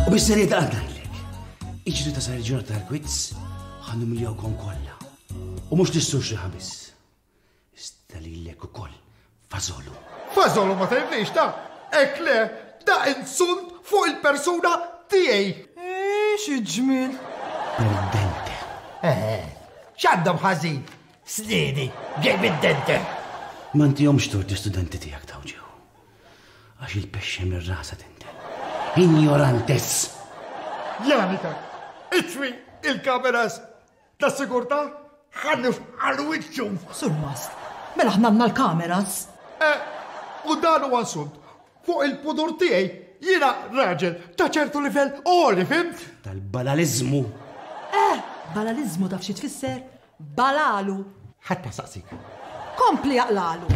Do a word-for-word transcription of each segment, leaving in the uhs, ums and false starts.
U bis-serjetà ngħidlek. Iġri ta' sar il-ġurnata tal-quiz ħa numiljawkom kollha. U mhux tistux li ħabis. Iżda lilek ukoll fażolu. Fażolu ma tgħidlix ta' hekk le, da insult fuq il-persuna tiegħi. Xi ġmiel. Perdente. Eh, x'għandhom ħażin? Sniedi, ġej bid-dente. Ma ntihomx tort l-istudenti tiegħek tawġew. Għax il-pexxe mir-rasa tinten. Ignorantes! Janika, itfi il-kameras ta' sigurtà ħalli għal wiċċu. Surmast, mela aħna għandna l-kameras. Eh, u dan huwa insult fuq il-pudur tiegħi. Jiena raġel ta' ċertu livell għoli, fhimt? Tal-balalizmu. Eh, balalizmu taf xi tfisser? Balalu. Ħadd ma saqsik. Kompli jaqlalu.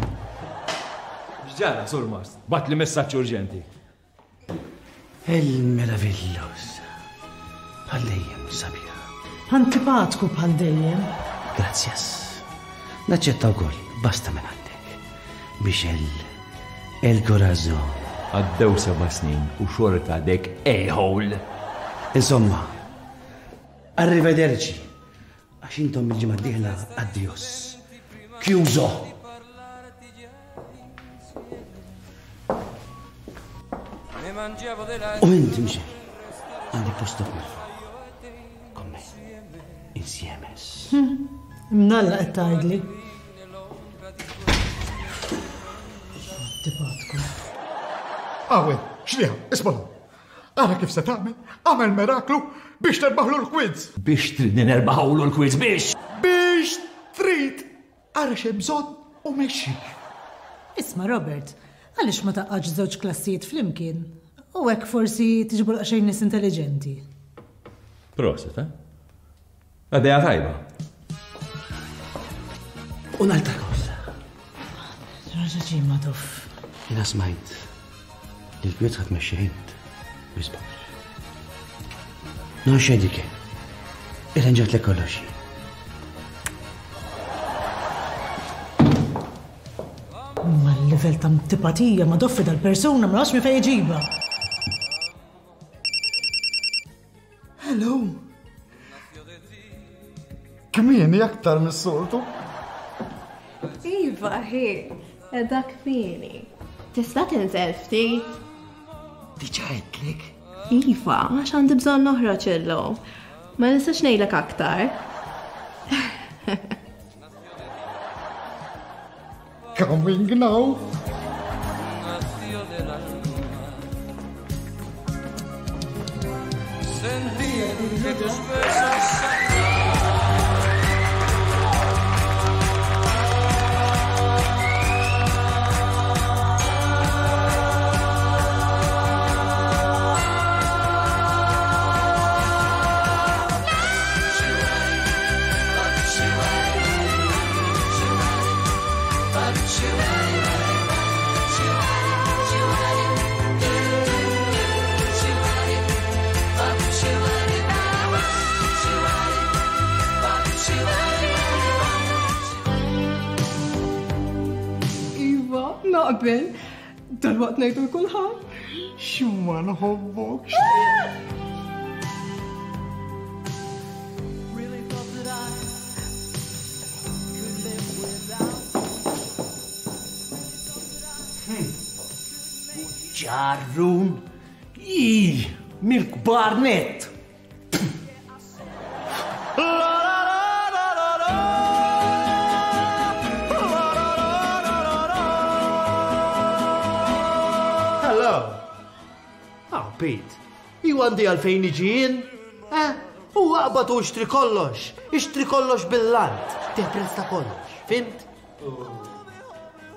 X'ġara, Surmast? Bagħatli messaġġ urġenti. Il-meravillos. Bħal dejjem sabiħa. Antipatku bħal dejjem. Grazzjas. Naċċetta wkoll, basta minn għandek. Biex el el corazon. Għaddew seba' snin u xorta għadek a-hole. Insomma, arrivederci. Għax intom il-ġimgħa d-dieħla addios. Chiuso. U inti mxi, għandek postok mill-fuq. Con me, insieme. Mnalla qed tgħidli. Antipatku. Awe, xliha, isma'. Ara kif se tagħmel, għamel miraklu biex terbaħlu l-quiz. Biex tridni nerbaħlu l-quiz biex? Biex trid. Ara x'hemm bżonn u mexxi. Isma' Robert, għaliex ma taqgħodx żewġ klassijiet flimkien? U hekk forsi tiġbru daqsxejn nies intelligenti. Proset, eh? Għaddejja tajba. Un'altra cosa. Raġa ġimma dof. Jiena smajt li l-quiz ħadd mexxi int. Bisbax. Non c'è di che. Irranġat kollox. Ma l-level ta' antipatija ma doffi dal-persuna ma nafx minn fejn iġibha. Hello. Kmieni aktar mis-soltu. Iva, hi, edha kmieni. Tista' tinżel ftit? Diġà għedtlek? Iva, għax għandi bżonn noħroġ illum. Ma nistax ngħidlek aktar. Coming now. Iva, naqbel. Dalwaqt ngħidu kulħadd. X'ma nħobbok. Ġarrun. Ih, mill-kbar net. Hello. Ah, Pete, ju għandi għalfejn iġi jien? Eh, u aqbad u ixtri kollox, ixtri kollox bil-lant, teprezz ta' kollox, fhimt?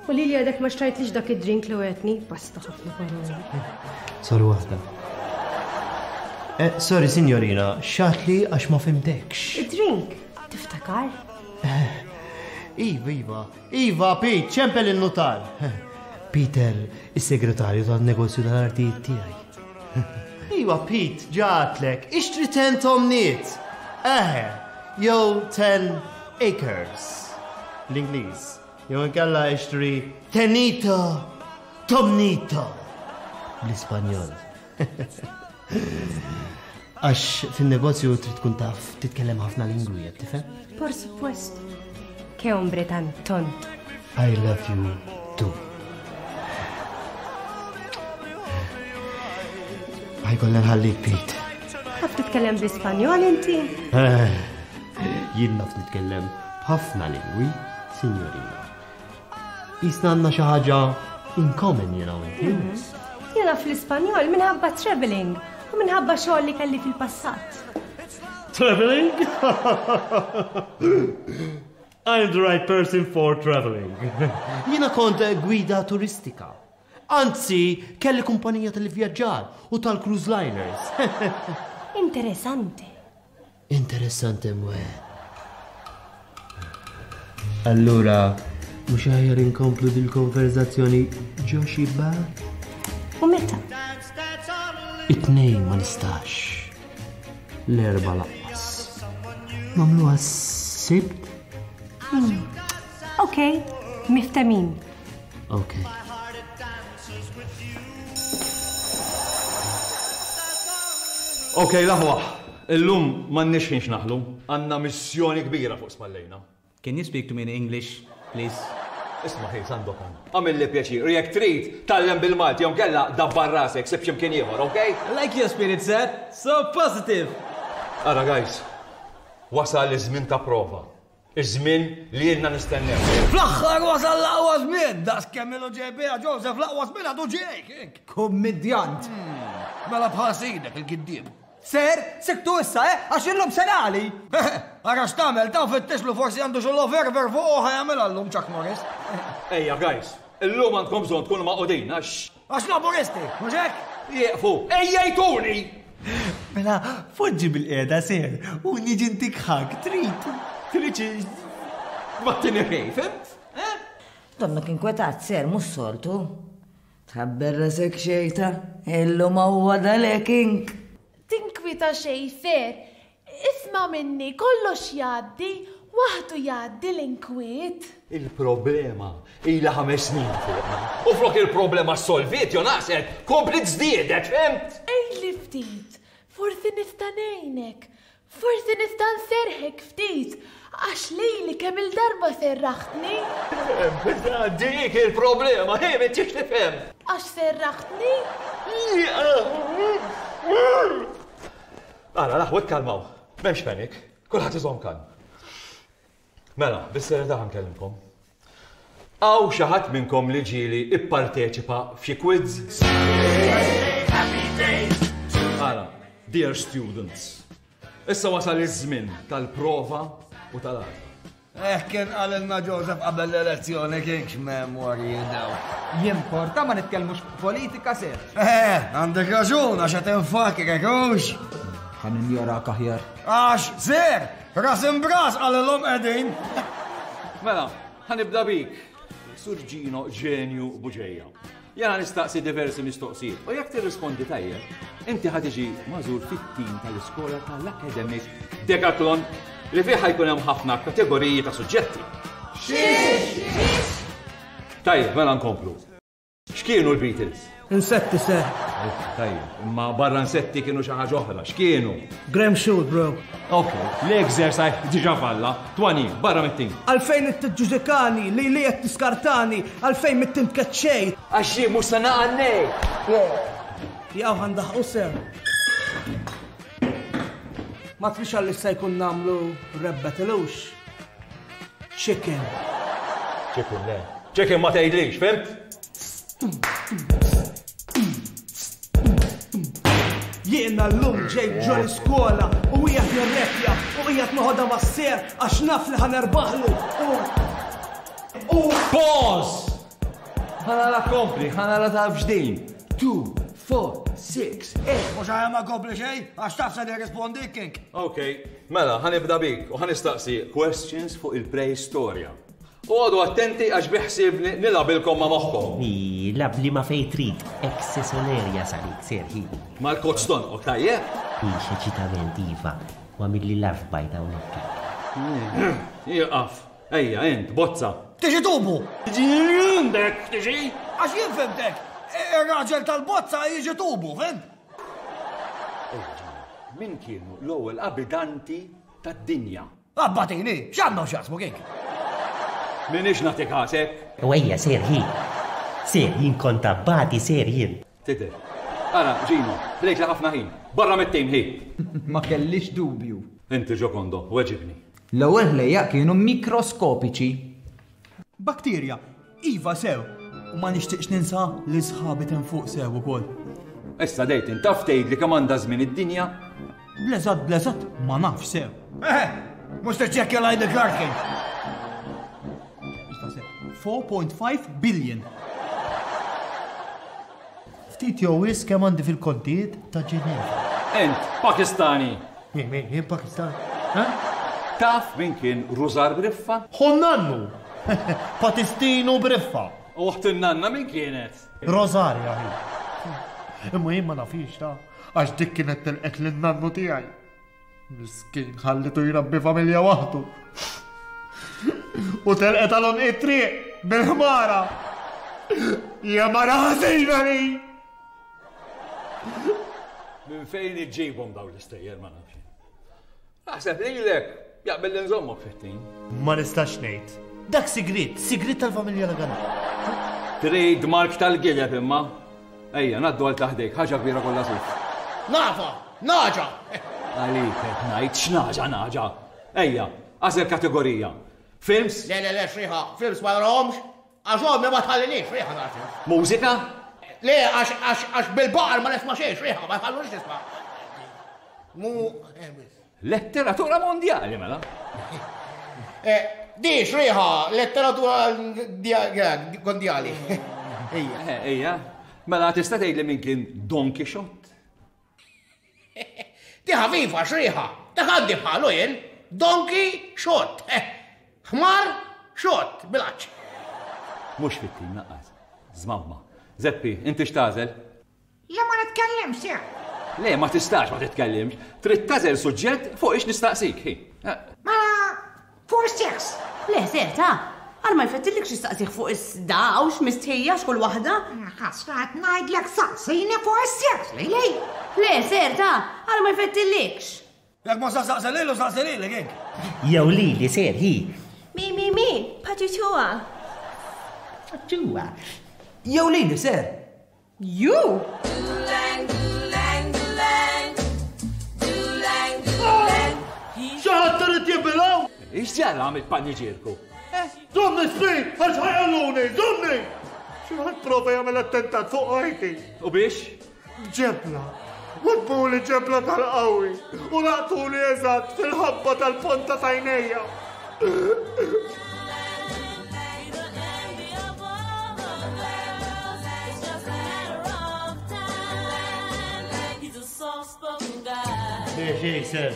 U li li għadek ma xtrajtlix dak id-drink li għetni, basta ħafna paroli. Sorry waħda. Eh, sorry, signorina, xatli għax ma fimtekx. Id-drink, tiftakar? Iva, Iva, Iva, Pete, ċempel il-notar. Peter, il-segretarju tal-negozju tal-artijiet tiegħi. Iva, Pete, ġatlek, ixtri ten tomniet. Eħe, jew ten acres. L-Ingliż. Jew inkella ixtri Tenito Tomnito bl-Ispanjol. Għax fin-negozju trid tkun taf titkellem ħafna lingwi, qed tifhem? Por supuesto. Che hombre tan tonto. I love you too. Ħajkollna nħallik, Pete. Taf titkellem bl-Ispanjol inti? Jien naf nitkellem b'ħafna lingwi, signorina. Isna għandna xi ħaġa in common jiena u inti. Jien naf l-Ispanjol minħabba traveling u minħabba xogħol li kelli fil-passat. Traveling? I'm the right person for traveling. Jiena kont gwida turistika. Anzi, kelli kumpanija tal-vjaġġar u tal-cruise liners. Interessanti. Interessanti mwe. Allura, mhux aħjar inkomplu dil-konverzazzjoni ġo xi bar? U meta? It-tnejn ma nistax. L-erba laqqas. Nagħmluha s-Sibt? Ok, miftemin. Ok. Ok, laħwa. Illum m'għandniex ħin x'naħlu. Għandna missjoni kbira fuq spallejna. Can you speak to me in English, please? Isma' ħej, Sandokan. Għamilli pjaċir, u jekk trid tgħallem bil-Malti jew kella dabbar rasek sib x'imkien ieħor, ok? I like your spirit, sir. So positive. Ara, guys, wasal iż-żmien ta' prova. Iż-żmien li ilna nistennew. Fl-aħħar wasal l-aqwa żmien, daqs kemm ilu ġej biha Joseph l-aqwa żmien għadu ġej. Kummidjant. Mela bħal sidek il-giddiem. Ser, siktu issa, eh? Għax illum senali. Ara x'tagħmel ta' fittixlu forsi għandu xi loverver fuq u ħajamilha llum Chuck Norris. Ejja, guys, illum għandkom bżonn tkunu maqudin għax Għax laburisti, mhux hekk? jieqfu. Ejja jtuni! Mela, foġġi bil-qiegħda ser u niġi ntik ħak, trid. Trid ma tini xejn, fimt? Donnok inkwetat ser, mhux soltu. Tħabber rasek xejta, illum huwa daleking. Tinkwita xej ser. Isma minni, kollox jgħaddi, waħdu jgħaddi l-inkwiet. Il-problema ilha ħames snin fuqna. U flok il-problema solviet, jo naqset, kompli żdiedet, fimt? Ejli ftit, forsi nista' ngħinek, forsi nista' nserħek ftit, għax lili kemm il-darba serraħtni, Dik il-problema, hej, m'intix tifhem. għax serraħtni. Ara, laħwa ikkalmaw. M'hemmx panic. Kulħadd iżomm kalm. Mela, bis-serjetà ħa nkellimkom. Hawn xi ħadd minnkom li ġieli ipparteċipa f'xi quiz? Ara, dear students, issa wasal iż-żmien tal-prova u tal-għażla. Eh, kien qalilna Joseph qabel l-elezzjoni kienx memorji daw. Jimporta ma nitkellmux fuq politika ser. Eh, għandek raġun għax qed infakrek hux. Ħa ninjorak aħjar. Għax, ser, ras imbras qalilhom qegħdin. Mela, ħa nibda bik. Sur Gino Ġenju Buġeja. Jena nistaqsi diversi mistoqsijiet u jekk tirrispondi tajjeb, inti ħa tiġi magħżul fit-tim tal-iskola tal-Academic Decathlon li fih ħajkun hemm ħafna kategoriji ta' suġġetti. Tajjeb, mela nkomplu. X'kienu l-Beatles? Insetti, sir. Tajjeb, imma barra insetti kienu xi ħaġa oħra. X'kienu? Graham shoot, bro. Ok, l-exercise diġà falla. Twani, barra mit-tim. Għalfejn it-ġuġekani, li li qed tiskartani, għalfejn mit-tim tkeċċej. Għax jien mhux se naqannej. Jaw għandaħ sir. Ma trix għalli se jkun namlu rebbetilux. Chicken. Chicken, le. Chicken ma tgħidlix, fimt? Jiena l-lum ġej ġo l-iskola u qiegħed nirrepja u qiegħed noħodha mas-ser għax naf li ħa nerbaħlu u u Pause! Ħa nara kompli, ħa nara taf x'din. Two, four, six, eight. Mhux ħajja ma kompli xejn, għax taf se nirrispondi kink. Ok, mela, ħa nibda bik u ħa nistaqsi questions fuq il-preistorja. U għodu attenti għax biħsib nilgħabilkom ma' moħħkom. Ilgħab li ma fej trid, eksesonerja salik, serħi. Mal-koċ tonqok, tajjeb? Ix eċitament, iva, u għamilli love bite hawnhekk. Jiqaf. Ejja, int, bozza. Tiġi tubu! Tiġi għandek, tiġi! Għax jien fimtek, ir-raġel tal-bozza jiġi tubu, fimt? Min kienu l-ewwel abitanti tad-dinja? Abbatini, x'għandhom x'jaqsmu kik? Minix nagħtik għasek. U ejja, ser hi. Ser jien kont abbati ser jien. Tidher. Ara, Gino, ħlejt li ħafna ħin. Barra mit-tim ħi. Ma kellix dubju. Inti Giocondo, weġibni. L-ewwel ħlejjaq kienu mikroskopiċi. Bakterja, iva sew. U ma nixtieqx ninsa li sħabi ten fuq sew ukoll. Issa dejt taf tgħid li kemm għandha żmien id-dinja? Bleżat, bleżat, ma nafx sew. Eh, mhux tiċċekkja l-I D card kien. four point five billion. Ftit jew wisq kemm għandi fil-kontijiet ta' Ġeneva. Ent, Pakistani. Min, min, jien Pakistani. Ha? Taf min kien Rużar Briffa? Honnannu! Patistino Briffa. U uħt in-nanna min kienet? Rosaria hi. Imma jien ma nafix ta' għax dik kienet telqet lin-nannu tiegħi. Miskin ħallitu jrabbi familja waħdu. U telqet għal it-triq bil-ħmara. Hija mara ħażina li. Minn fejn iġġibhom dawn l-istejjer ma nafx. Naħseb lilek jaqbel li nżommok fit-tim. Ma nistax ngħid. Dak sigrit, sigrit tal-familja Lagana. Trademark tal-gileb imma. Ejja, ngħaddu għal taħdejk, ħaġa kbira kollha suf. Nafa, naġa! Għalik qed ngħid x'naġa naġa. Ejja, għażel kategorija. Films? Le, le, le, xriħa, films ma narahomx, għax ommi ma tħallinix, xriħa nara films. Mużika? Le, għax, għax, għax bil-baqar ma nisma' xejn, xriħa, ma tħallunix nisma'. Mu, eh, biss. Letteratura mondjali, mela. Eh, di xriħa, letteratura mondjali. Ejja. Eh, ejja. Mela tista' tgħidli min kien Don Quixote? Di ħafifa xriħa, dak għandi bħalu jien. Donkey Shot. Ħmar Shot, bil-għaċ. Mhux fit-tim naqqas. Żmamma. Zeppi, inti x'tagħżel? Le ma nitkellimx, sir. Le, ma tistax ma titkellimx. Trid tagħżel suġġett fuq ix nistaqsik. Hi. Mela, fuq is-seks. Le, ser, ta' għal ma jfettillik xi staqsih fuq is-da u x'mistħija x'kull waħda. Ħasra qed ngħidlek saqsini fuq is-seks, lejlej. Le, ser, ta' għal ma jfettillikx. Jekk ma saqsaq lilu, saqsi lilek, hekk. Jew lili, ser, hi. Mi, mi, mi, paġuċuha. Paġuċuha. Jew lili, ser. Ju! Xi ħadd irid jibilgħu? Ix ġara għamilt paniġierku? Żomni sbi, għax ħajqaluni, żomni! Xi ħadd prova jagħmel attentat fuq ħajti. U biex? Ġebla. Wabbuli ġebla tal-qawwi u laqtuli eżatt fil-ħabba tal-ponta tajnejja. Biex ser.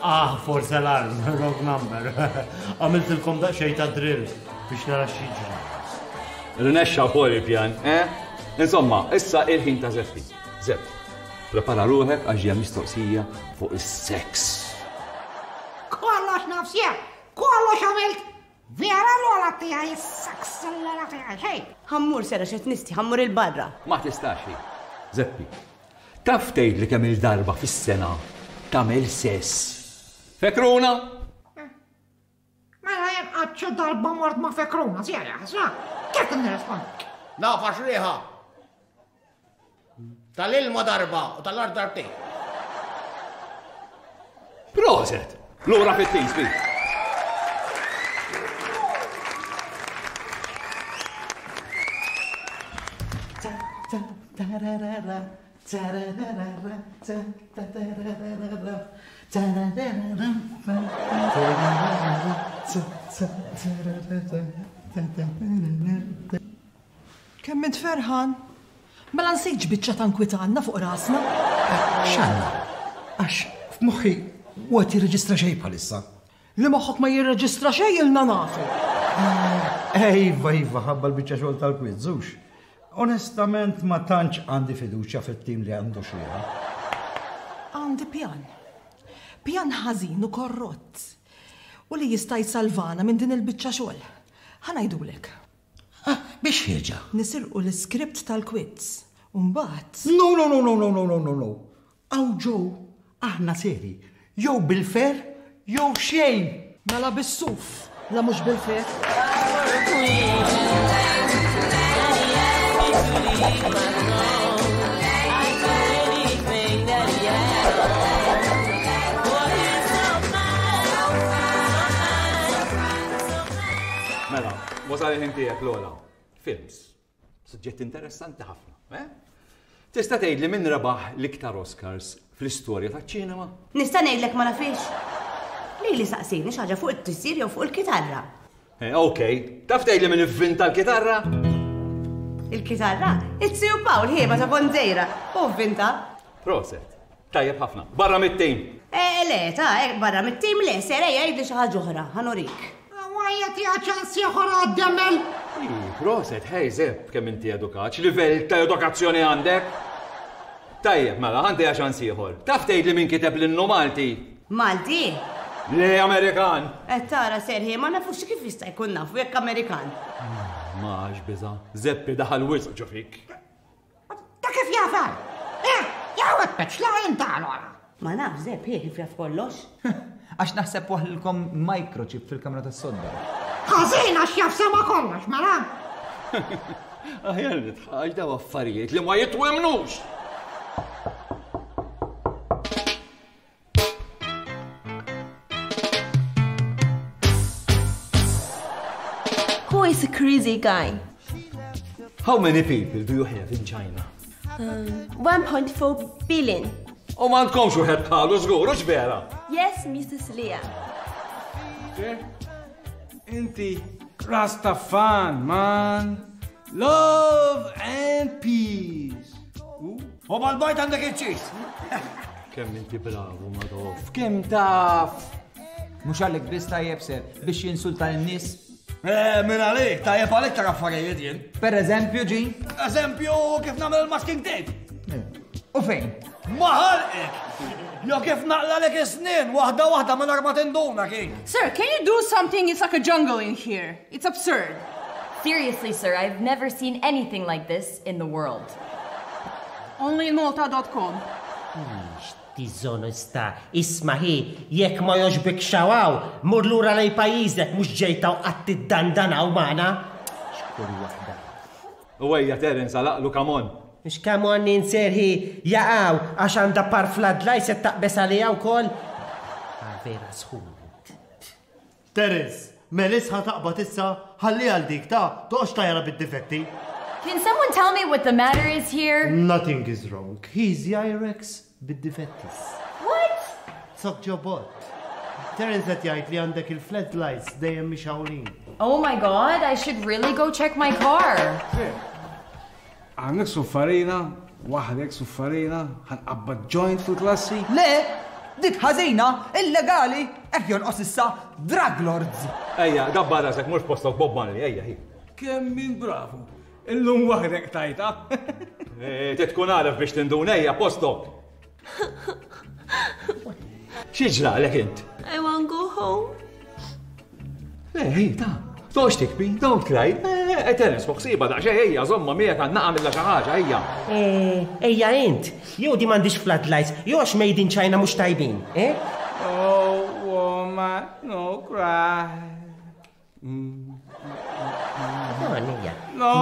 Ah, forse alarm, wrong number. Għamiltilkom daqsxejn ta' drill biex nara x'jiġri. Rnexxa wkoll il-pjan, eh? Insomma, issa il-ħin ta' Zeppi. Zepp, prepara ruħek għax hija mistoqsija fuq is-seks. Kollox naf sir, kollox għamilt. Vera l-ola tiegħi, is-seks l-ola tiegħi, xejn. Ħammur sera xed nisti, ħammur il-barra. Ma tistax hi. Zeppi, taf tgħid li kemm il-darba fis-sena tagħmel sess. Fekruna? Mela jien qatt xi darba mort ma' Fekruna, sija, ħasra. Kif nirrispondi? Nafa xriħa. Tal-ilma darba u tal-art darbtejn. Proset! Lura fit-tim, sbi. Kemm int ferħan? Mela nsejtx biċċa ta' nkwitanna fuq rasna. X'għandna? Għax f'moħħi huwa jirreġistra xejn bħalissa. Li moħħok ma jirreġistra xejn ilna nafu. Ejva, iva, ħabba l-biċċa xogħol tal-quiz, hux. Onestament ma tantx għandi fiduċja fit-tim li għandu xejn. Għandi pjan. Pjan ħażin u korrott. U li jista' jsalvana minn din il-biċċa xogħol. Ħa ngħidulek. Biex ħieġa? Nisirqu l-iskript tal-quiz. U mbagħad. No, no, no, no, no, no, no, no, no. Aw ġew, aħna seri. Jew bil-fer, jew xejn. Mela bis-suf, la mhux bil-fer. Mela, wasal il-ħin tiegħek Lola. Films. Suġġett interessanti ħafna, eh? Tista' tgħidli min rebaħ l-iktar Oscars fl-istorja taċ-ċinema? Nista' ngħidlek ma nafix. Lili saqsini xi ħaġa fuq it-tisir jew fuq il-kitarra. Eh, ok, taf tgħidli min ivvinta l-kitarra? Il-kitarra? It-Siju Pawl ħieba ta' Bonzejra. U vvinta. Proset. Tajjeb ħafna. Barra mit-tim. Eh, le, ta' eh, barra mit-tim le, ser ejja jgħidli xi ħaġa oħra, ħa nurik. Għajja tiegħa ċans ieħor għad-demel. Ih, Proset, hej Zepp, kemm inti edukat, x'livell ta' edukazzjoni għandek? Tajjeb, mela, għandi ċans ieħor. Taf tgħidli min kiteb l-innu Malti? Malti? Le Amerikan. Qed tara serħi, ma nafux kif jista' jkun nafu jekk Amerikan. Max biża, Zeppi daħal wisq ġo fik. Ta' kif jafar? Eh, jew qed la inta allora. Ma naf Zepp, hi kif jaf kollox. Għax naħseb waħlilkom microchip fil-kamra tas-sodda. Ħażin għax jaf sema kollox, mela. Aħjar nitħaġ daw affarijiet li ma jitwemnux. Who is a crazy guy? How many people do you have in China? Um, one point four billion. U ma għandkomx wieħed bħalu żgur, hux vera? Yes, Missus Leah. Inti Rastafan, man. Love and peace. U mal-bajt għandek iċ-ċis. Kemm inti bravu, Madoff. Kemm taf? Mhux għalek biss tajjeb ser biex jinsulta lin-nies. Eh, minn għalik, tajjeb għalik ta' affarijiet jien. Per eżempju, ġi? Eżempju, kif nagħmel il-masking tape. U fejn? Ma ħalqek! Jo kif naqlalek is-snin, waħda waħda minn ma tinduna kien. Sir, can you do something? It's like a jungle in here. It's absurd. Seriously, sir, I've never seen anything like this in the world. Only in Malta dot com. Diżonesta, isma' hi, jekk ma jogħġbek xawaw, mur lura lej pajjiżek mhux ġejta u qatt tiddandanaw magħna. Xkull waħda. U ejja Terence għalaqlu come on. Mhux come on ninserħi jaqaw għax għandha par floodlight se taqbes għaliha wkoll. Ah, vera sħun. Terence, Melis ħa taqbad issa ħalli għal dik ta' toqgħodx tajra bid-difetti. Can someone tell me what the matter is here? Nothing is wrong. He's Jairex bid-difettis. What? Sok ġobot. Terence qed jgħid li għandek il-floodlights dejjem mixawlin. Oh my God, I should really go check my car. Għandek suffarina, waħdek suffarina, ħanqabbad joint fil-klassi. Le, dik ħażina, illegali, hekk jonqos issa drug lords. Ejja, dabba rasek, mhux postok Bob Marley, ejja, hi. Kemm min bravu. Illum waħdek tajta. Eh, te tkun għaref biex tindun, ejja, postok. Xi ġralek int? I want go home. Le, ej, ta. Tox tikbi, don't cry. Eh, Terence, fuq siba daqsxejn, ejja, żomma miegħek għandna għamilha xi ħaġa, ejja. Eh, ejja int, jew di m'għandix floodlights, jew għax made in China mhux tajbin, eh? Oh, woman, no cry. No, ejja. No,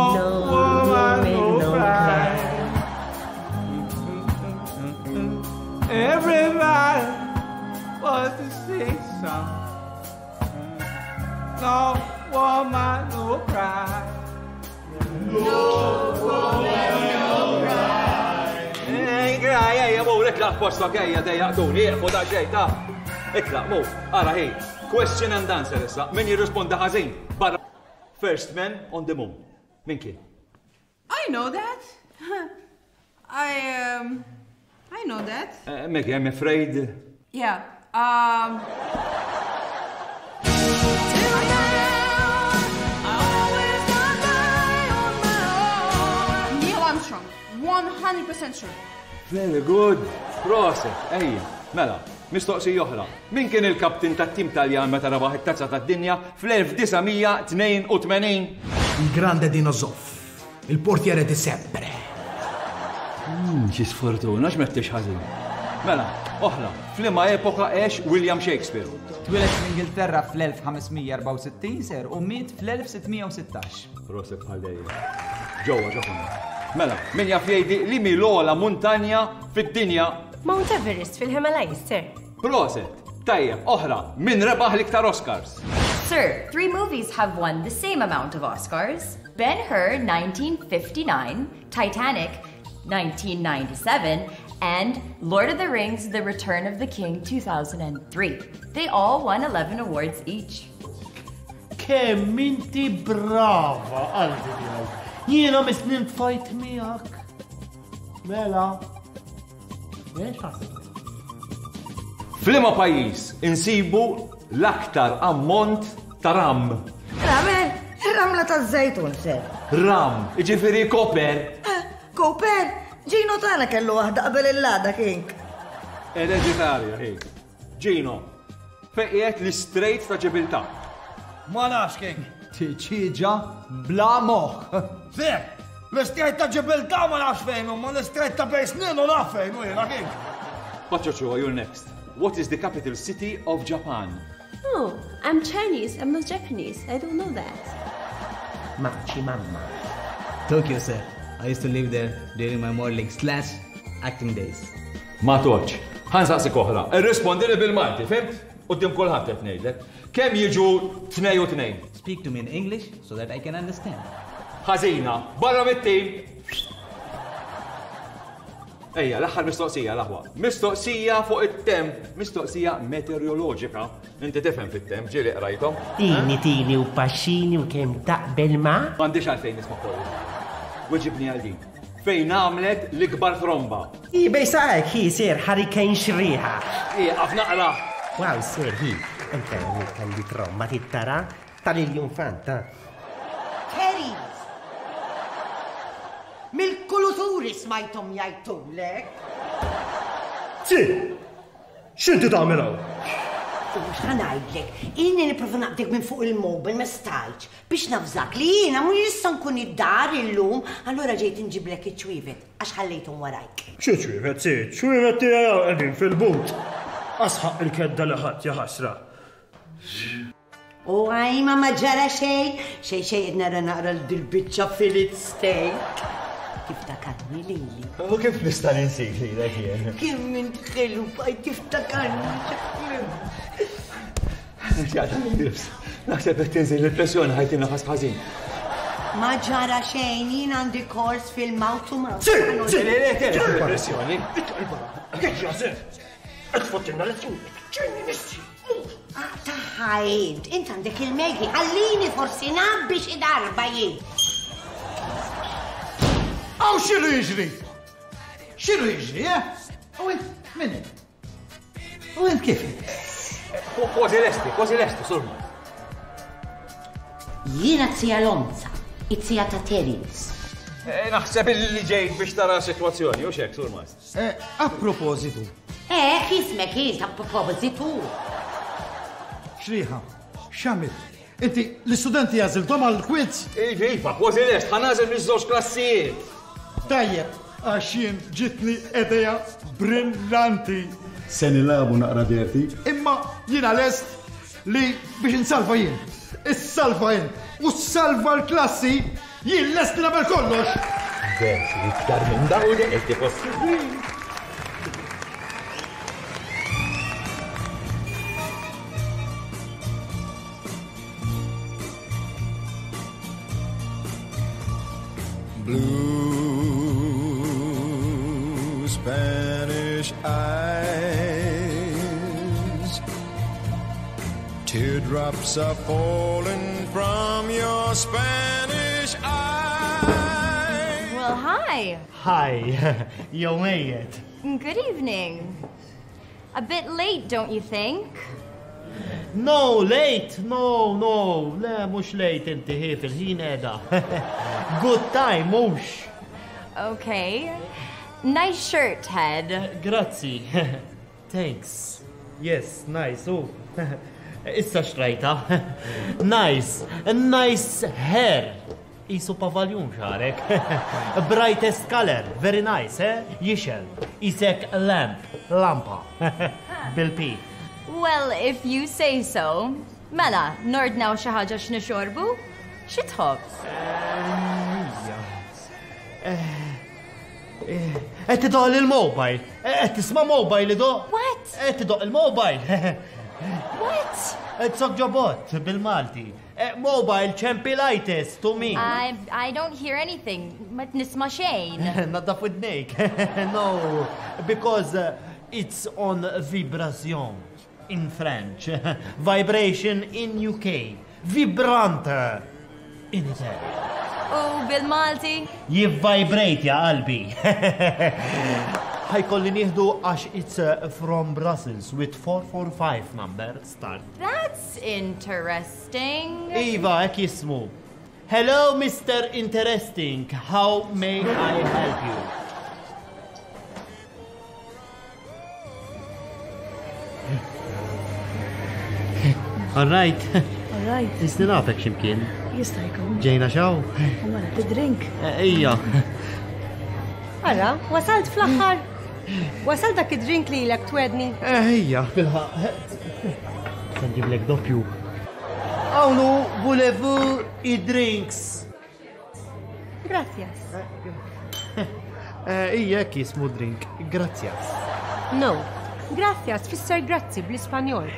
woman, no cry. Everybody wants to say something. No woman, no cry. No woman, no cry. Ej, cry, ejja, mur, itlaq postok, ejja, dejjaqtuni, ieqfu daqsxejn, ta' Itlaq, mur, ara, hi, question and answer issa, min jirrisponda ħażin, barra. First man on the moon. Min kien? I know that. I, um, I know that. Eh, Maggie, I'm afraid. Yeah. Um. Neil Armstrong, one hundred percent sure. Very good. Proset, ejja, mela. Mistoqsija oħra. Min kien il-kaptin tat-tim Taljan meta rebaħ it-Tazza tad-Dinja fl-elf disa' mija tnejn u tmenin? Il grande Dino Zoff, il portiere di sempre. Mm, xi sfortuna, x'mettix ħażin. Mela, oħra, f'liema epoka għex William Shakespeare? Twieled fl-Ingilterra fl-elf ħames mija erbgħa u sittin ser u miet fl-elf sitt mija u sittax. Proset bħal dejjem. Ġewwa ġewwa. Mela, min jaf jgħidi li mi l-ogħla muntanja fid-dinja? Mount Everest fil-Himalayas, sir. Proset. Tajjeb, oħra, min rebaħ l-iktar Oscars? Sir, three movies have won the same amount of Oscars. Ben-Hur, nineteen fifty-nine, Titanic, nineteen ninety-seven, and Lord of the Rings, The Return of the King, two thousand and three. They all won eleven awards each. Kemm inti brava, qalbi tiegħu. Jiena misnin tfajt miegħek. Mela. F'liema pajjiż insibu l-aktar ammont ta' ram? Ram, ramla ta' żejtun, ser. Ram, jiġifieri koper. Koper? Gino tagħna kellu waħda qabel il-lada kink. Ereditarja, hi. Gino, fejn qiegħed l-istrejt ta' Ġibiltà? Ma nafx kink. Tiċiġa bla moħħ. Ser, l-istrejt ta' Ġibiltà ma nafx fejn, ma l-istrejt ta' bejn snin u naf fejn, u jiena kink. Paċċoċo, you're next. What is the capital city of Japan? Oh, I'm Chinese, I'm not Japanese. I don't know that. Maċi mamma. Tokyo, sir. I used to live there during my modeling slash acting days. Ma toċ. Ħansaqsik oħra. Irrispondili bil-Malti, fimt? Quddiem kulħadd qed ngħidlek. Kemm jiġu tnej u tnejn? Speak to me in English so that I can understand. Ħażina, barra mit-tim. Ejja, l-aħħar mistoqsija, l-aħwa. Mistoqsija fuq it-temp, mistoqsija meteoroloġika. Inti tifhem fit-temp, ġieli qrajthom. Tini, tini u paxini u kemm taqbel ma? M'għandix għalfejn nisma' kollu. Weġibni għal din. Fejn għamlet l-ikbar tromba? I bej saqek, hi sir, hurricane xriħa. I, għaf naqra. Wow, sir, hi. Anke għandi tromba tittara tal-iljun fanta. Terry! Mill-kuluturi smajtom jajtulek. Zi! X'inti tagħmel hawn? Mhux ħanajdlek, inni nipprova naqdek minn fuq il-mobil ma stajtx biex nafżak li jiena mhux issa nkun id-dar illum, allura ġejt inġiblek iċ-ċwievet għax ħallejthom warajk. Xi ċwievet, si? Ċwievet tiegħi qegħdin fil-but. Asħaq il-kedda li ħadd ja ħasra. U għajma ma ġara xejn, xejn xejn qed nara naqra l-dil-biċċa fillet steak. Tiftakarni lili. U kif nista' ninsik lilek jien? Kemm int ħelu bqajt tiftakarni. Naħseb qed tinżel il-pressjoni ħajti nafas ħażin. Ma ġara xejn, jien għandi kors fil-mouth to mouth. Sì, sì, le, le, le, il-pressjoni. Qed lezzjoni, ġenni nissi. Taħħa int għandek il-megi, ħallini forsi nabbi xi darba jien. Aw x'inhu jiġri? X'inhu jiġri, eh? U int min int? U int kif? Kważi lesti, kważi lesti, surma. Jiena t-sija Lonza, it-sija ta' Terence. Naħseb li ġejt biex tara sitwazzjoni, u xek, surma. A propositu. Eh, kismek int a propositu. Xriħa, x'għamilt? Inti l-istudenti għażilthom għall-quiz? Iva, iva, kważi lest, ħa nagħżel miż-żewġ klassijiet. Tajjeb, għax jien ġitni idea brillanti. Se nilagħbu naqra dirti, imma jiena lest li biex insalva jien. Issalva jien u salva l-klassi, jien lest li nagħmel kollox. Dirti iktar minn dawn qed possibbli. Blue Spanish eyes, teardrops are falling from your Spanish eyes. Well, hi. Hi, jew mejjet. Good evening. A bit late, don't you think? No, late, no, no, le, mux late inti hi fil-ħin edha. Good time, mux. Okay. Nice shirt, Ted. Grazzi. Thanks. Yes, nice, u. Issa xtrajta. Nice, nice hair. Isu pavaljun xarek. Brightest color, very nice, eh? Jixel. Isek lamp, lampa. Bil-P. Well, if you say so. Mela, nordnaw xi ħaġa x'nixorbu? Xi tħobb? Qed tidoq il-mobile. Qed tisma' mobile idoq. What? Qed tidoq il-mobile. What? Tsok ġobot bil-Malti. Mobile ċempilitis to me. I, I don't hear anything. Ma nisma' xejn. Naddaf widnejk. No, because uh, it's on vibration in French. Vibration in U K. Vibrante in Italian. U bil-Malti? Jivvibrate ja qalbi. Ħa jkolli nieħdu għax it's uh, from Brussels with four four five number start. That's interesting. Iva, hekk jismu. Hello, Mister Interesting. How may I help you? All right. All right. Qisni nafek x'imkien. Jista' jkun. Ġejna xaw? U mela tidrink. Ija. Ara, wasalt fl-aħħar. Wasalt dak id-drink li lek twedni. Ejja, bilħaqq. Se nġiblek doppju. Awnu, voulez-vous i-drinks? Gracias. Ija, jismu drink. Gracias. No, gracias tfisser grazzi bl-Ispanjol.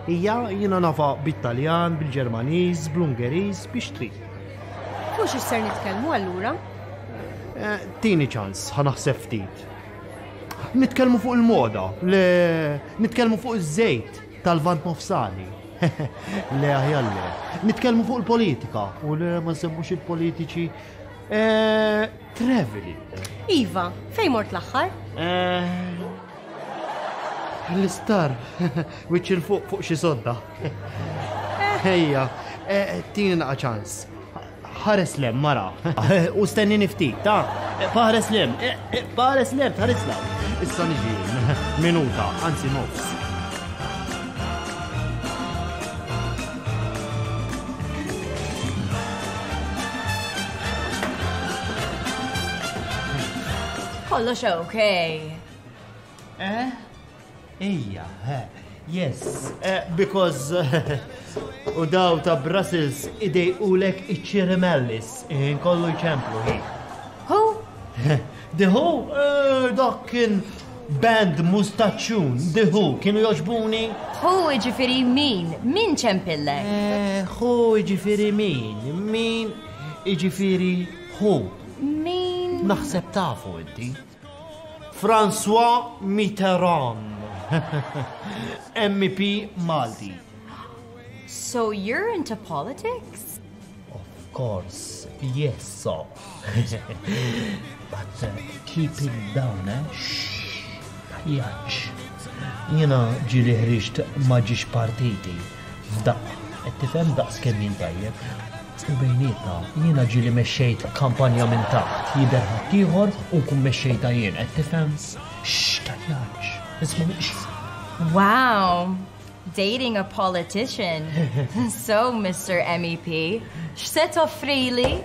Ija, jiena nafha bit-Taljan, bil-Ġermaniż, bl-Ungeriż, biex trid. Fuq x'ser nitkellmu allura? Eh, Tini ċans, ħa naħseb ftit. Nitkellmu fuq il-moda, le nitkellmu fuq iż-żejt tal-Lvant Nofsani. Le, aħjar le. Nitkellmu fuq il-politika, u le, ma nsemmux il-politiċi. Eh, Traveling. Iva, fejn mort l-aħħar? Eh, L-isptar, wiċċ 'il fuq fuq xi sodda. Ejja, eh, tini naqa ċans. Ħares 'l hemm, mara. U stennini ftit, ta' ħares 'l hemm, ħares 'l hemm, ħares 'l hemm. Issa niġi, minuta, anzi nofs. Kollox okay. Eh? Ija, eh, yes, eh, because u daw ta' Brussels idejqulek iċ-ċirimellis, kollu jċemplu hi. Who? The Who? Eh, dak kien band mustaċċun, The Who, kienu jogħġbuni? Who iġifiri min? Min ċempillek? Eh, Who iġifiri min? Min iġifiri who? Min? Naħseb tafu inti. François Mitterrand. M E P Malti. So you're into politics? Of course, yes, so. But uh, keep it down, eh? Shh, tgħajjatx. Jiena ġieli ħriġt ma' żewġ partiti. F'daqqa, qed tifhem daqs kemm jien tajjeb. U bejnietna, jiena ġieli mexxejt kampanja minn taħt, jidher ħaddieħor u nkun mexxejta jien, qed tifhem? Shh, tgħajjatx. Isma' shh. Wow. Dating a politician. So, Mister M E P, x'se toffrili?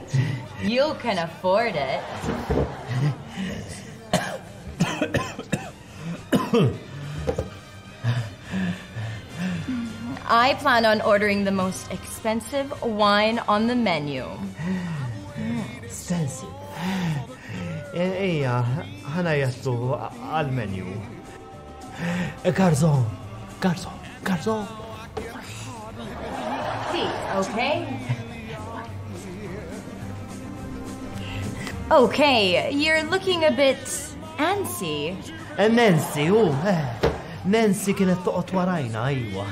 You can afford it. I plan on ordering the most expensive wine on the menu. Expensive. Ejja, ħa ngħajjatlu għal-menu. Garzon, garzon, garzon. Please, okay? Okay, you're looking a bit antsy. Eh, Nancy, u, eh, Nancy kienet toqgħod warajna, ejwa.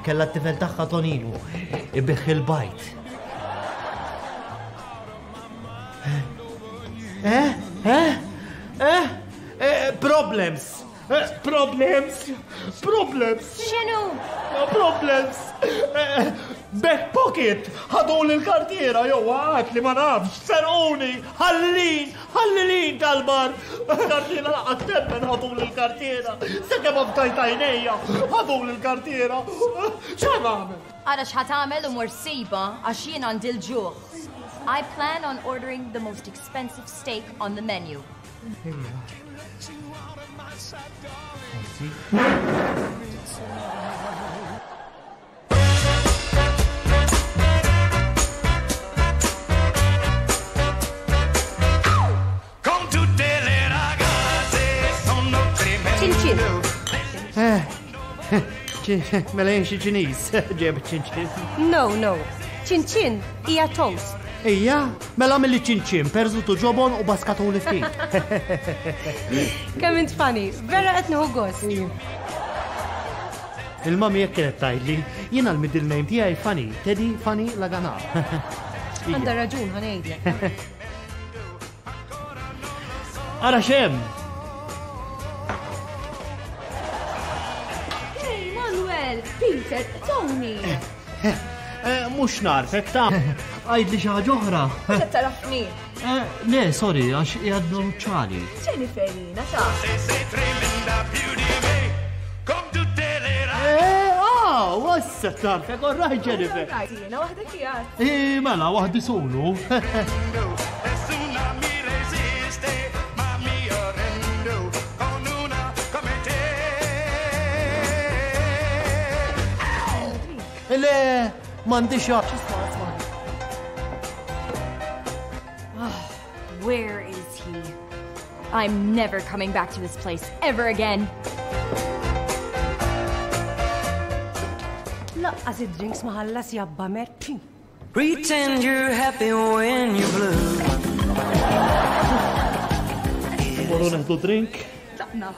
Kella t-tifel tagħha Toninu, ibigħ il-bajd. Eh? Eh? Eh? Eh, problems! Eh, problems! Problems! X'inhu? Problems! Problems. Eh, Back pocket, ħaduli l-kartiera, jew għat li ma nafx, serquni, ħallin, ħallilin tal-bar. Kartiera laqgħat temmen ħaduli l-kartiera. Sakemm aftajt għajnejja, ħaduli l-kartiera. X'għan nagħmel? Ara x'ħa tagħmel u mur sibha għax jien għandi l-ġuħ. I plan on ordering the most expensive steak on the menu. Con tutte le ragazze sono Cin cin. Eh, Mela jien xi Ċiniż, ġeb ċin ċin. No, no. Cin cin hija toast. Ija, mela milli ċin ċin, perżutu ġobon u baskatuli ftit. Kemm int funny, vera qed nieħu gost. Il-mami jekk kienet tgħidli, jiena l-middle name tiegħi Fanny, Teddy Fanny Lagana. Għandha raġun ħa ngħidlek. Ara xem! Hey, Manuel, Peter, Tony. Eh, mhux narfek ta' għajdli xi ħaġa oħra. Mhux qed tarafni. Eh, Le, sorry, għax jgħaddu ċali. Jennifer jina ta' Eh, ah, wassa tarfek, all right, Jennifer. Jina waħda kijat. Eh, mela, waħdi solo. Nessuna mi resiste, ma mi arrendo con una come te. Le, m'għandix għax. Where is he? I'm never coming back to this place ever again. Laqqas id-drinks ma ħallas jabba mer. Pretend you're happy when you're blue. Morru neħdu drink. Tlaqna.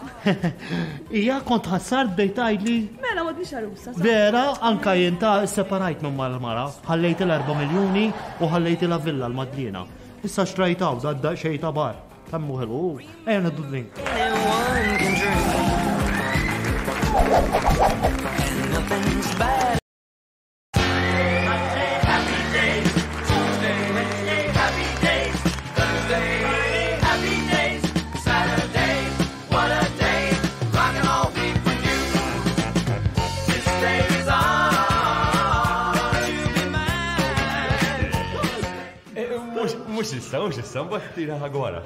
Ija kont ħassar bdejt tgħidli Mela m'għadniex għarusa. sa? Vera, anka jien ta' separajt minn mal-mara, ħallejt l-erba' miljuni u ħallejt la villa l-Madlina. Issa xtrajtaw, da xejn ta' bar. Tammu ħelu, ejja neħdu drink. Anyone can drink. And nothing's bad. Tuesday, Wednesday, happy days. Thursday, Friday, happy days. Saturday, what a day. Rockin' all week with you. This day is ours. You be mine. Mux issa, mux issa, mbagħad tira ħagwara.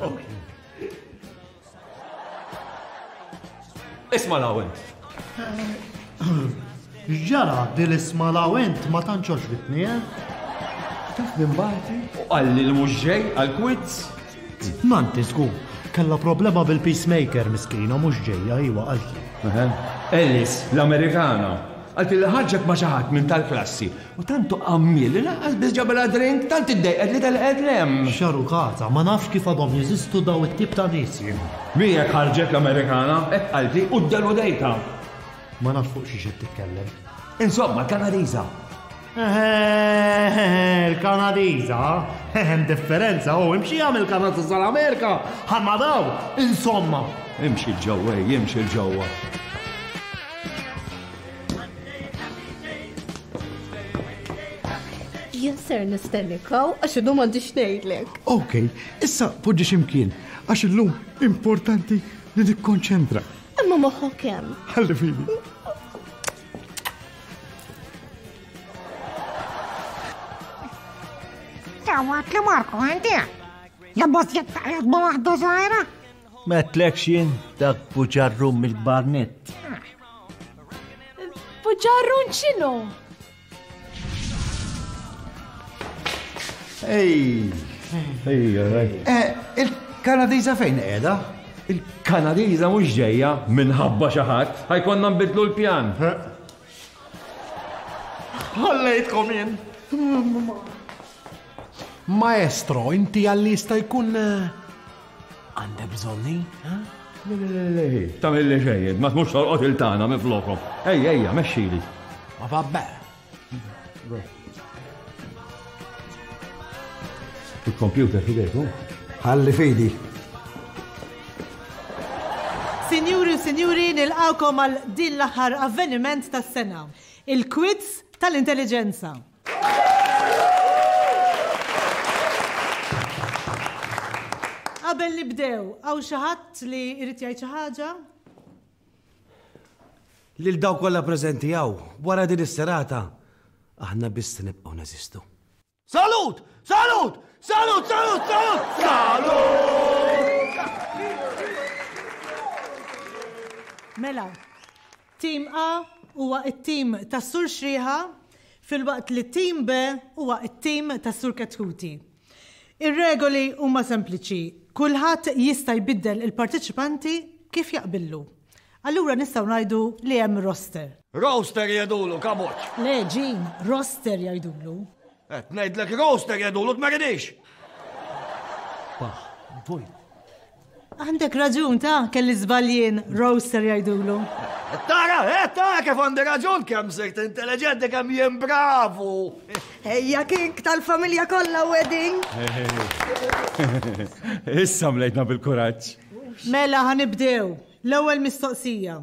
Isma' l-għawent. Ġara, dil-isma l-għawent ma tantx għoġbitni, eh? Taf minn bagħti? U qalli li mhux ġej għall-quiz. Nanti żgur, kellha problema bil-peacemaker miskina mhux ġejja iwa qaltli. Ellis, l-Amerikana. Għalti li ħarġet ma' xi ħadd minn tal-klassi. U tantu għammiel li lanqas biss ġabela drink, tant iddejqet li telqet lem. Xarukata, ma nafx kif għadhom jeżistu daw it-tip ta' nies jien. Miegħek ħarġet l-Amerikana, hekk qaltli u ddeludejta. Ma nafx fuq xi xed titkellem. Insomma, l-Kanadiża. Il-Kanadiża, hemm differenza, u imxi għamil Kanada sal-Amerika, ħamma daw, insomma. Imxi l-ġewwa, imxi l-ġewwa. Jien ser nistennikaw għax illum m'għandix ngħidlek. Ok, issa poġġi ximkien, għax illum importanti li nikkonċentra. Imma moħħok hemm. Ħalli fidi. Sawat li Marko għandi. Jabboż jittaqjad ma waħda żgħira. Ma tlekx jien dak buġarrum mill-barnet. Buġarrun x'inhu? Ej! Ej, right. Eh, il-Kanadiża fejn qiegħda? Il-Kanadiża mhux ġejja minħabba xi ħadd, ħajkonna nbidlu l-pjan. Ħallejtkom jien. Maestro, inti għalli jista' jkun eh, għandek bżonni? eh? Le, le, le, le, tagħmilli xejn, ma tmux tolqot il-tagħna minn flokom. Ejja, ejja, mexxili. Ma vabbè. Il-computer fidejk, hu? Ħalli fidi. Sinjuri u sinjuri, nilqawkom għal din l-aħħar avveniment tas-sena. Il-quiz tal-intelligenza. Qabel nibdew, hawn xi ħadd li jrid jgħid xi ħaġa? Lil dawk kollha preżenti hawn, wara din is-serata, aħna biss nibqgħu neżistu. Salut! Salut! Salut! Salut! Salut! Salut! Mela, Team A huwa it-tim tas-Sur Xrieħa filwaqt li Team B huwa it-tim tas-Sur Ketkuti. Ir-regoli huma sempliċi. Kulħadd jista' jbiddel il-parteċipanti kif jaqbillu. Allura nistgħu ngħidu li hemm roster. Roster jgħidulu, kaboċ. Le, Jean, roster jgħidulu. Qed ngħidlek roster jgħidulu tmeridix. Bah, vojt. Għandek raġun ta' kelli żbaljien roster jgħidulu. Tara, eh, tara kif għandi raġun kemm sirt intelligenti kemm jien bravu. Ejja kink tal-familja kollha wedding. Issa mlejtna bil-kuraġġ. Mela ħa nibdew. L-ewwel mistoqsija.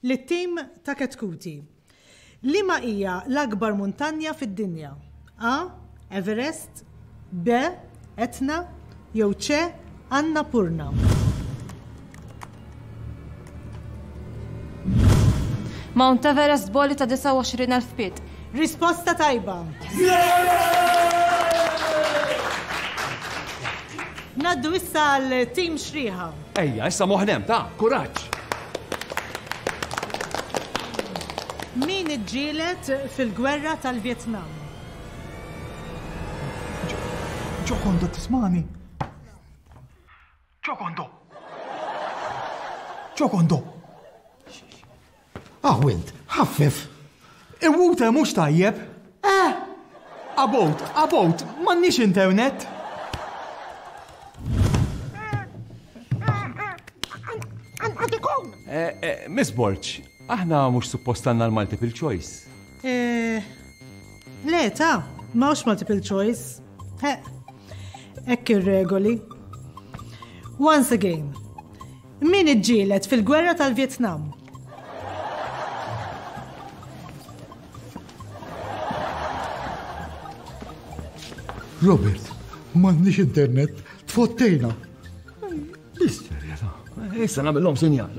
Lit-tim ta' Ketkuti. Liema hija l-akbar muntanja fid-dinja? A. Everest, B. Etna, jew C. Annapurna. Mount Everest boli ta' disgħa u għoxrin elf pied. Risposta tajba. Naddu issa għal tim Xrieħa. Ejja, issa moħnem ta' kuraġġ. Min iġġielet fil-gwerra tal-Vjetnam? Ġokondo tismani? Ġokondo! Ġokondo! Ah, int, ħaffef! Il-water mhux tajjeb. Eh! About, about, m'għandniex internet. Miss Borg, aħna mhux suppost għandna l-multiple choice. Eh, le, ta' m'hawnx multiple choice. He, hekk ir-regoli. Once again, min iġġielet fil-gwerra tal-Vjetnam? Robert, m'għandniex internet, tfottejna. Bis-serjetà, issa nagħmilhom sinjal.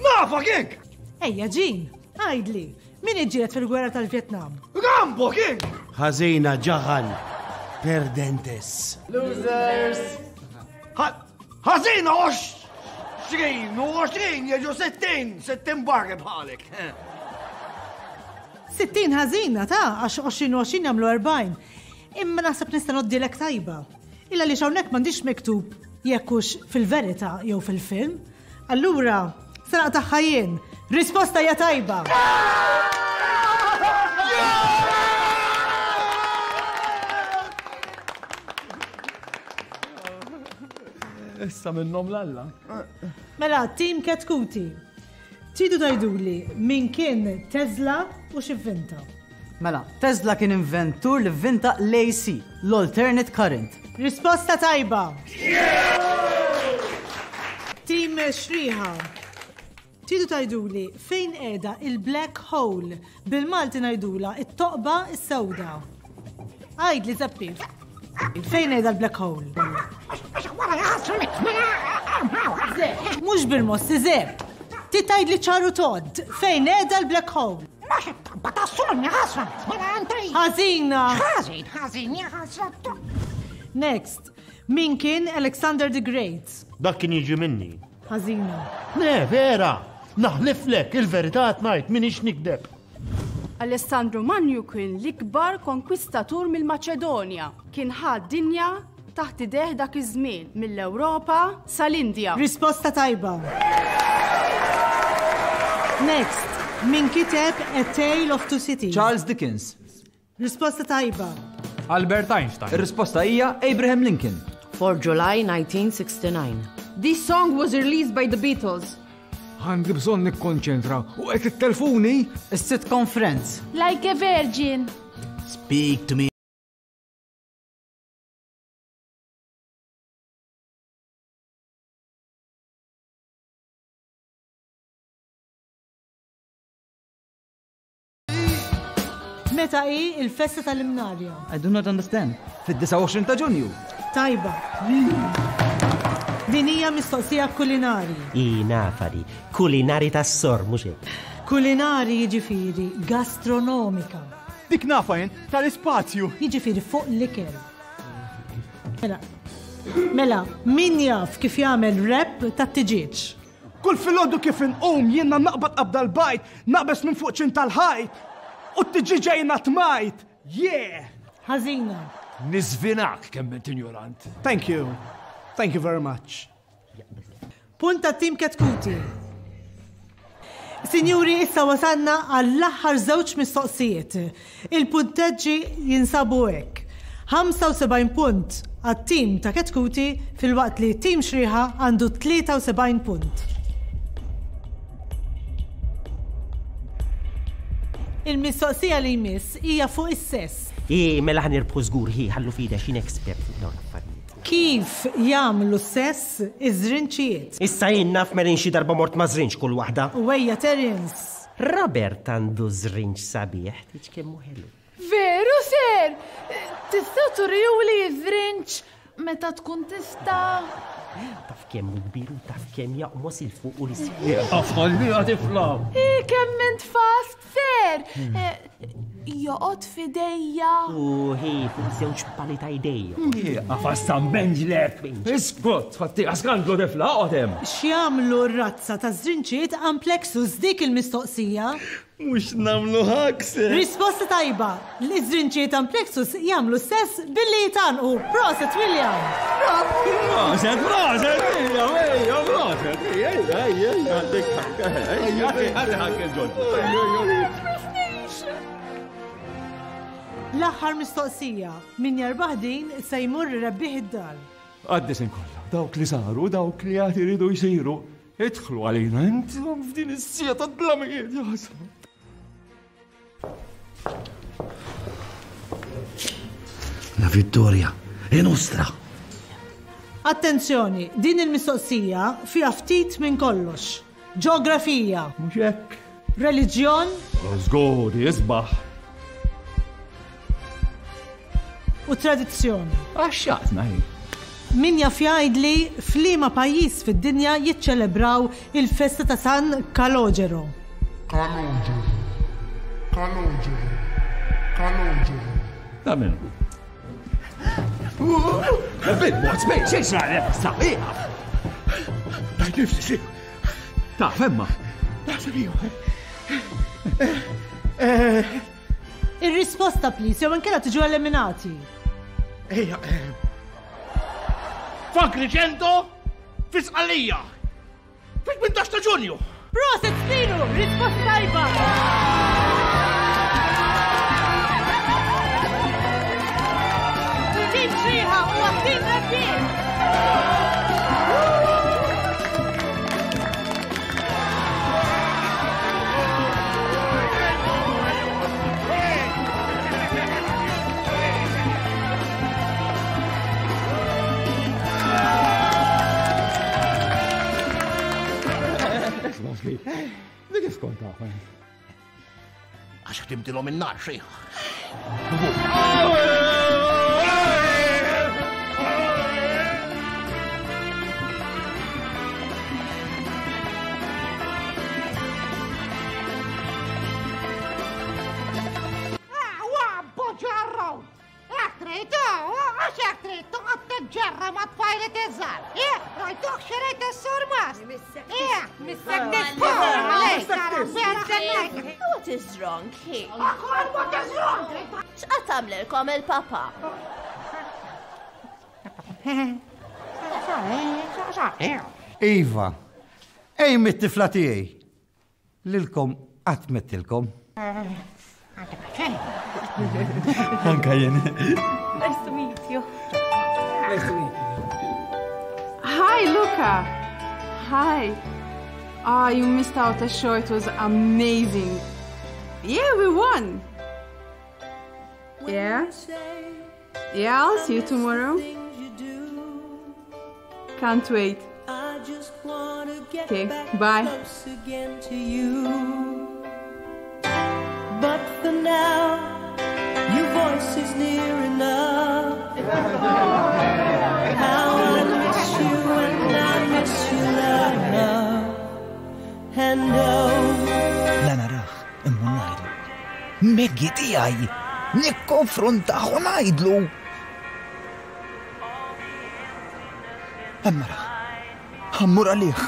Nafa kik! Ejja, Jean, għidli, min iġġielet fil-gwerra tal-Vjetnam? Rambo kik! Ħażina ġaħan, perdentes. Losers! Ħażina għoxrin u għoxrin jiġu sittin, sittin barri bħalek. Sittin ħażina ta' għax għoxrin u għoxrin jagħmlu erbgħin. Imma naħseb nista' noddilek tajba. Illa li hawnhekk m'għandix miktub jekk hux fil-verità jew fil-film. Allura, se naqtagħha jien. Risposta hija tajba. Issa minnhom l-alla. Mela, Team Ketkuti. Tridu tgħiduli min kien Tesla u x'ivvinta? Mela, Tesla kien inventur li vvinta l-A C, l-alternate current. Risposta tajba. Team Xrieħa. Tridu tgħiduli fejn qiegħda il-black hole, bil-Malti ngħidula it-toqba s-sewda. Għidli Zeppi. Fejn qiegħda l-black hole? Mhux bil-mossi, Zepp. Ti tgħidli ċaru tod, fejn qiegħda l-black hole? Ħażina. Ħażin, ħażin, ħażin. Next, min kien Alexander the Great? Dak kien jiġi minni. Ħażina. Le, vera, naħliflek il-verità ngħid minix nikdeb. Alessandro Magno kien l-ikbar konkwistatur mill-Maċedonja. Kien ħa d-dinja taħt ideh dak iż-żmien mill-Ewropa sal-Indja. Risposta tajba. Next, min kiteb A Tale of Two Cities? Charles Dickens. Risposta tajba. Albert Einstein. Ir-risposta hija Abraham Lincoln. For July nineteen sixty-nine. This song was released by the Beatles. Għandi bżonn nikkonċentra u qed it-telfuni. Is-sitcom Friends. Like a virgin. Speak to me. Meta hi il-festa tal-Imnarja? I do not understand. Fid-disgħa u għoxrin ta' Ġunju. Tajba. Din hija mistoqsija kulinari. I nafari, kulinari tas-sor, mhux hekk. Kulinari jiġifieri gastronomika. Dik nafa jien tal-ispazju. Jiġifieri fuq l-ikel. Mela, mela, min jaf kif jagħmel wrap tat-tiġieġ? Kull filgħodu kif inqum jiena naqbad qabda l-bajt, naqbes minn fuq ċin tal-ħajt u t-tiġieġa jiena tmajt. Yeah! Ħażina. Niżvinak kemm int injorant. Thank you. Thank you very much. Punt tat-tim Ketkuti. Sinjuri, issa wasalna għall-aħħar żewġ mistoqsijiet. Il-punteġġi jinsabu hekk. ħamsa u sebgħin punt għat-tim ta' Ketkuti filwaqt li tim Xrieħa għandu tlieta u sebgħin punt. Il-mistoqsija li jmiss hija fuq is-sess. I, mela ħa nirbħu żgur, hi, ħallu fida x'in expert fuq dawn l-affarijiet. Kif jagħmlu sess iż-żrinċijiet? Issa jien naf Merin xi darba mort ma' żrinċ kull waħda. U ejja Terence. Robert għandu żrinċ sabiħ, tiġ kemm hu ħelu. Veru ser! Tista' turjuli żrinċ meta tkun tista'. Taf kemm hu kbir u taf kemm jaqmos il fuq u l-isfel. Ħallija tifla. I kemm int fast ser! Joqgħod f'idejja. U hi fuq żewġ pali ta' idejja. Għafas ta' mbenġlek. Iskot, fatti skandlu tifla, oqgħod hemm. X'jagħmlu r-razza ta' żrinċijiet amplexus dik il-mistoqsija? Mhux nagħmlu ħakse. Risposta tajba. L-iżrinċijiet amplexus jagħmlu sess billi jitanqu. Proset William. Proset, proset, ejja, ejja, proset, ejja, ejja, ejja, għandek ħakka, ejja, ejja, ħakka ġodda. L-aħħar mistoqsija, min jarbaħ din se jmur rebbieħ id-dar. Għaddisin kollha, dawk li saru, dawk li għad iridu jsiru, idħlu għalina intom f'din is-sija ta' dlamijiet, jaħseb. La vittoria è nostra. Attenzjoni, din il-mistoqsija fiha ftit minn kollox. Ġeografija. Mhux hekk. Reliġjon. Żgur, isbaħ. U tradizzjoni. Għaxxaqtna hi. Min jaf jgħidli f'liema pajjiż fid-dinja jiċċelebraw il-festa ta' San Kalogero? Kalogero. Kalogero. Kalogero. Ta' min? Bil-mod, spejn, xejn xrajna, sabiħa. Tajt nifsi, ta' femma. Naħseb iva. Ir-risposta, please, jew inkella tiġu eliminati. Ejja, F'Agrigento, fi Sqallija, fit-tmintax ta' Ġunju. Proset, Spiru, risposta tajba. Tim Xrieħa huwa tim rebbieħ. Dik kif kont taf? Għax ħdimtilhom in-nar xejn. Ġerra ma tfajlet iż-żar. Eh, rajtuh xerajt is-surmas. Eh, What is wrong here? What is wrong? X'qed tagħmlilkom il-papa? Iva, ej mit-tifla tiegħi. Lilkom qatt mettilkom. Anka jien. Nice to meet you. Nice to meet you. Hi, Luca. Hi. Ah, you missed out a show. It was amazing. Yeah, we won. Yeah? Yeah, I'll see you tomorrow. Can't wait. Okay, bye. But for now, close is near enough. How I miss you and I miss you love. And oh. La narah, imma ngħidlu. Maggie tiegħi, nikkonfrontah u ngħidlu. Hemm narah, ħammur għalih.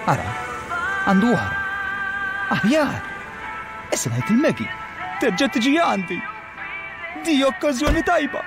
Ara, għandu oħra. Aħjar! Issa ngħid il-Maggie, terġa' tiġi għandi. Di okkażjoni tajba.